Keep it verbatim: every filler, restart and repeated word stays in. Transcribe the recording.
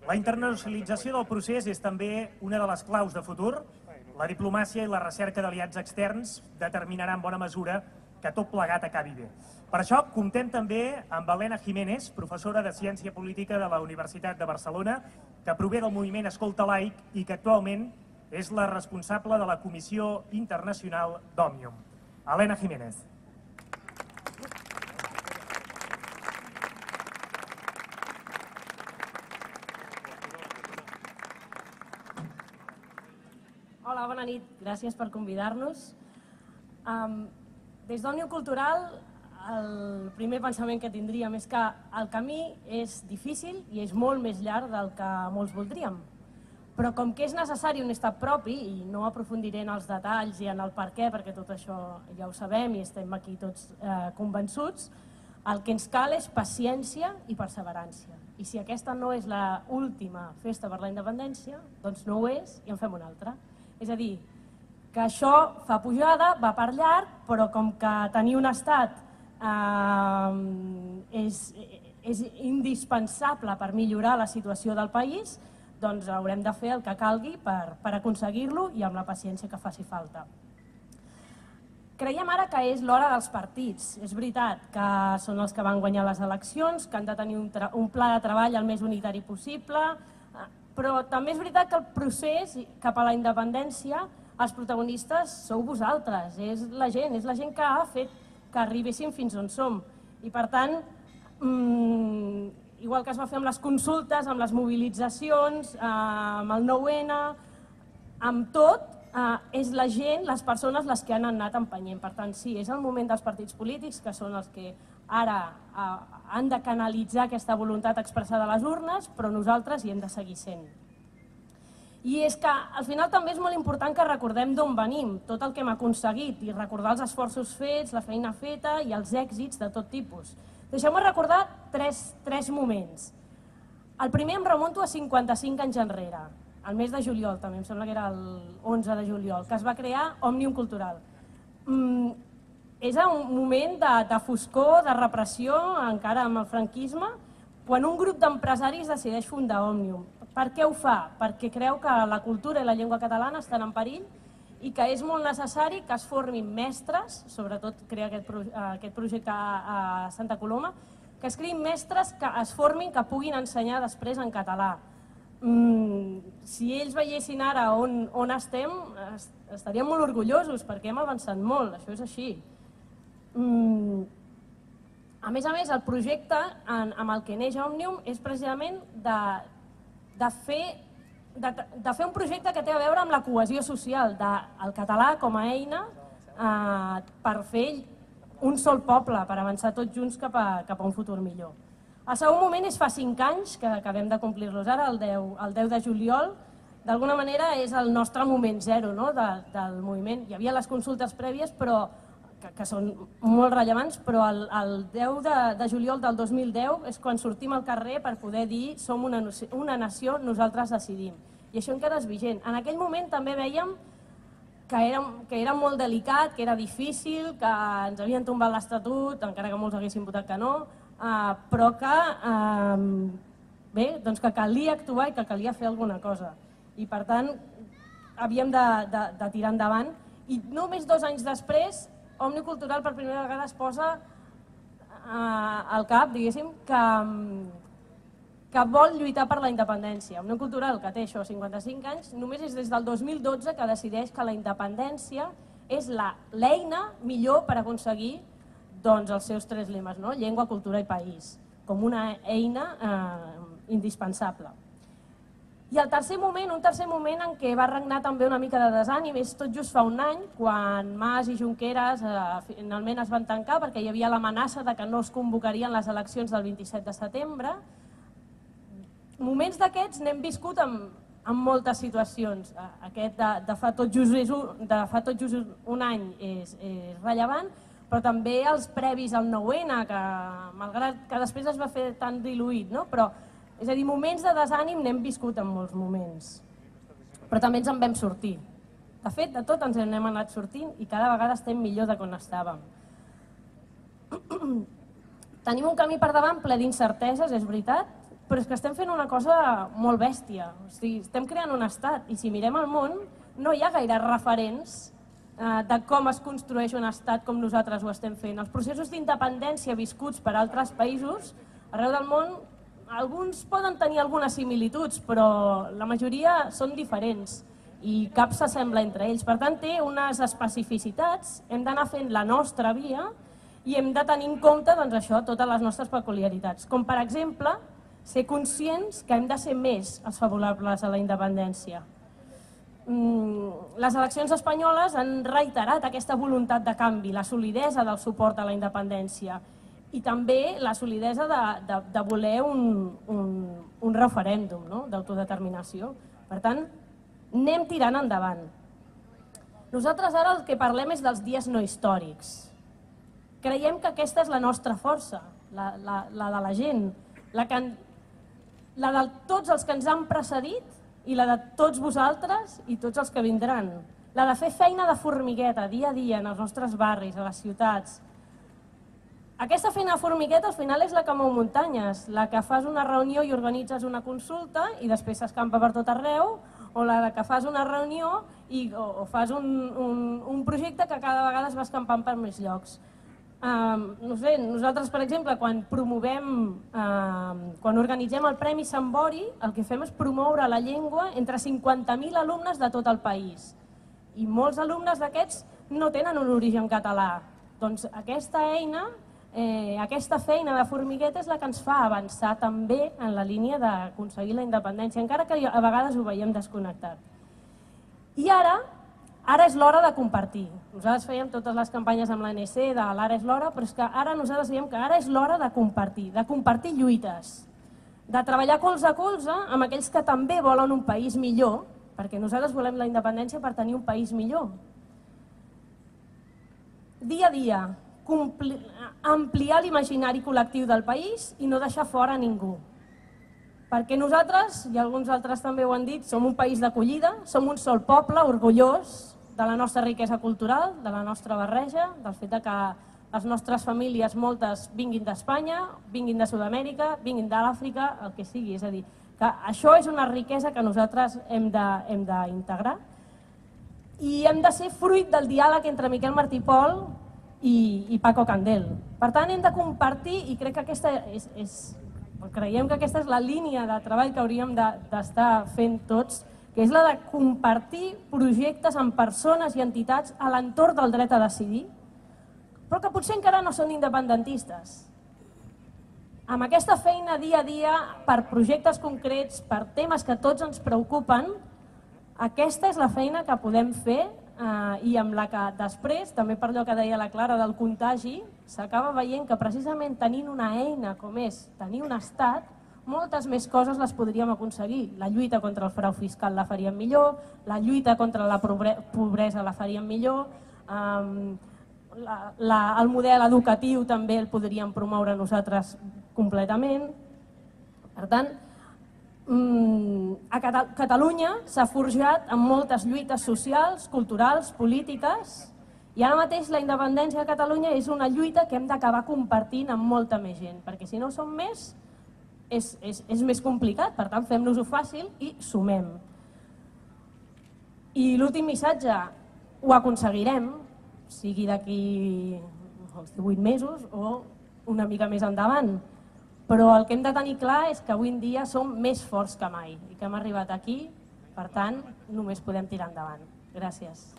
La internacionalització del procés és també una de les claus de futur. La diplomàcia i la recerca d'aliats externs determinaran en bona mesura que tot plegat acabi bé. Per això comptem també amb Elena Jiménez, professora de Ciència Política de la Universitat de Barcelona, que prové del moviment Escolta Laic i que actualment és la responsable de la Comissió Internacional d'Òmnium. Elena Jiménez. Hola, bona nit. Gràcies per convidar-nos. Des d'Òmnium Cultural, el primer pensament que tindríem és que el camí és difícil i és molt més llarg del que molts voldríem. Però com que és necessari un estat propi, i no aprofundiré en els detalls i en el per què, perquè tot això ja ho sabem i estem aquí tots convençuts, el que ens cal és paciència i perseverància. I si aquesta no és l'última festa per la independència, doncs no ho és i en fem una altra. És a dir, que això fa pujada, va per llarg, però com que tenir un estat és indispensable per millorar la situació del país, doncs haurem de fer el que calgui per aconseguir-lo i amb la paciència que faci falta. Creiem ara que és l'hora dels partits. És veritat que són els que van guanyar les eleccions, que han de tenir un pla de treball el més unitari possible, però també és veritat que el procés cap a la independència, els protagonistes sou vosaltres, és la gent, és la gent que ha fet que arribéssim fins on som. I per tant, igual que es va fer amb les consultes, amb les mobilitzacions, amb el nou ene, amb tot, és la gent, les persones, les que han anat empenyent. Per tant, sí, és el moment dels partits polítics, que són els que ara han de canalitzar aquesta voluntat expressada a les urnes, però nosaltres hi hem de seguir sent. I és que al final també és molt important que recordem d'on venim, tot el que hem aconseguit, i recordar els esforços fets, la feina feta i els èxits de tot tipus. Deixeu-me recordar tres moments. El primer em remunto a cinquanta-cinc anys enrere, al mes de juliol, també em sembla que era l'onze de juliol, que es va crear Òmnium Cultural. És un moment de foscor, de repressió, encara amb el franquisme, quan un grup d'empresaris decideix fundar Òmnium. Per què ho fa? Perquè creu que la cultura i la llengua catalana estan en perill i que és molt necessari que es formin mestres, sobretot crea aquest projecte a Santa Coloma, que es creïn mestres que es formin, que puguin ensenyar després en català. Si ells veiessin ara on estem, estaríem molt orgullosos perquè hem avançat molt, això és així. A més a més, el projecte amb el que neix Òmnium és precisament de fer un projecte que té a veure amb la cohesió social del català com a eina per fer un sol poble, per avançar tots junts cap a un futur millor. El segon moment és fa cinc anys, que acabem de complir-los ara, el deu de juliol. D'alguna manera és el nostre moment zero del moviment. Hi havia les consultes prèvies, que són molt rellevants, però el deu de juliol del dos mil deu és quan sortim al carrer per poder dir som una nació, nosaltres decidim. I això encara és vigent. En aquell moment també veiem que era molt delicat, que era difícil, que ens havien tombat l'Estatut, encara que molts haguessin votat que no, però que calia actuar i que calia fer alguna cosa. I per tant, havíem de tirar endavant. I només dos anys després, Òmnium Cultural per primera vegada es posa al cap, diguéssim, que vol lluitar per la independència. Òmnium Cultural, que té això, cinquanta-cinc anys, només és des del dos mil dotze que decideix que la independència és l'eina millor per aconseguir els seus tres lemes, llengua, cultura i país, com una eina indispensable. I el tercer moment, un tercer moment en què va regnar també una mica de desànim, és tot just fa un any, quan Mas i Junqueras finalment es van tancar perquè hi havia l'amenaça que no es convocarien les eleccions del vint-i-set de setembre. Moments d'aquests n'hem viscut en moltes situacions. Aquest de fa tot just un any és rellevant, però també els previs al nou ene, que malgrat que després es va fer tan diluït, però és a dir, moments de desànim n'hem viscut en molts moments, però també ens en vam sortir. De fet, de tot ens n'hem anat sortint i cada vegada estem millor de com estàvem. Tenim un camí per davant ple d'incerteses, és veritat, però és que estem fent una cosa molt bèstia. O sigui, estem creant un estat i si mirem el món no hi ha gaire referents de com es construeix un estat com nosaltres ho estem fent. Els processos d'independència viscuts per altres països arreu del món, alguns poden tenir algunes similituds, però la majoria són diferents i cap s'assembla entre ells. Per tant, té unes especificitats, hem d'anar fent la nostra via i hem de tenir en compte doncs, això, totes les nostres peculiaritats. Com per exemple, ser conscients que hem de ser més els favorables a la independència. Les eleccions espanyoles han reiterat aquesta voluntat de canvi, la solidesa del suport a la independència i també la solidesa de, de, de voler un, un, un referèndum, no? D'autodeterminació. Per tant, anem tirant endavant. Nosaltres ara el que parlem és dels dies no històrics. Creiem que aquesta és la nostra força, la, la, la de la gent, la, que, la de tots els que ens han precedit i la de tots vosaltres i tots els que vindran. La de fer feina de formigueta, dia a dia, en els nostres barris, a les ciutats. Aquesta feina de formigueta al final és la que mou muntanyes, la que fas una reunió i organitzes una consulta i després s'escampa per tot arreu, o la que fas una reunió i, o, o fas un, un, un projecte que cada vegada es va escampant per més llocs. Uh, no sé, nosaltres, per exemple, quan promovem, uh, quan organitzem el Premi Sant Bori, el que fem és promoure la llengua entre cinquanta mil alumnes de tot el país. I molts alumnes d'aquests no tenen un origen català. Doncs aquesta eina, eh, aquesta feina de formigueta és la que ens fa avançar també en la línia d'aconseguir la independència, encara que a vegades ho veiem desconnectat. I ara, Ara és l'hora de compartir. Nosaltres fèiem totes les campanyes amb l'A N C de l'ara és l'hora, però és que ara nosaltres diem que ara és l'hora de compartir, de compartir lluites, de treballar colze a colze amb aquells que també volen un país millor, perquè nosaltres volem la independència per tenir un país millor. Dia a dia, ampliar l'imaginari col·lectiu del país i no deixar fora ningú. Perquè nosaltres, i alguns altres també ho han dit, som un país d'acollida, som un sol poble orgullós de la nostra riquesa cultural, de la nostra barreja, del fet que les nostres famílies, moltes, vinguin d'Espanya, vinguin de Sud-amèrica, vinguin d'Àfrica, el que sigui. És a dir, que això és una riquesa que nosaltres hem d'integrar i hem de ser fruit del diàleg entre Miquel Martí i Pol i, i Paco Candel. Per tant, hem de compartir i crec que aquesta és, és creiem que aquesta és la línia de treball que hauríem d'estar fent tots, que és la de compartir projectes amb persones i entitats a l'entorn del dret a decidir, però que potser encara no són independentistes. Amb aquesta feina dia a dia, per projectes concrets, per temes que tots ens preocupen, aquesta és la feina que podem fer i amb la que després, també per allò que deia la Clara del contagi, s'acaba veient que precisament tenint una eina com és tenir un estat, moltes més coses les podríem aconseguir. La lluita contra el frau fiscal la faríem millor, la lluita contra la pobresa la faríem millor, el model educatiu també el podríem promoure nosaltres completament. Per tant, a Catalunya s'ha forjat amb moltes lluites socials, culturals, polítiques, i ara mateix la independència de Catalunya és una lluita que hem d'acabar compartint amb molta més gent, perquè si no som més és, és, és més complicat, per tant fem-nos-ho fàcil i sumem. I l'últim missatge, ho aconseguirem, sigui d'aquí els divuit mesos o una mica més endavant, però el que hem de tenir clar és que avui en dia som més forts que mai i que hem arribat aquí, per tant només podem tirar endavant. Gràcies.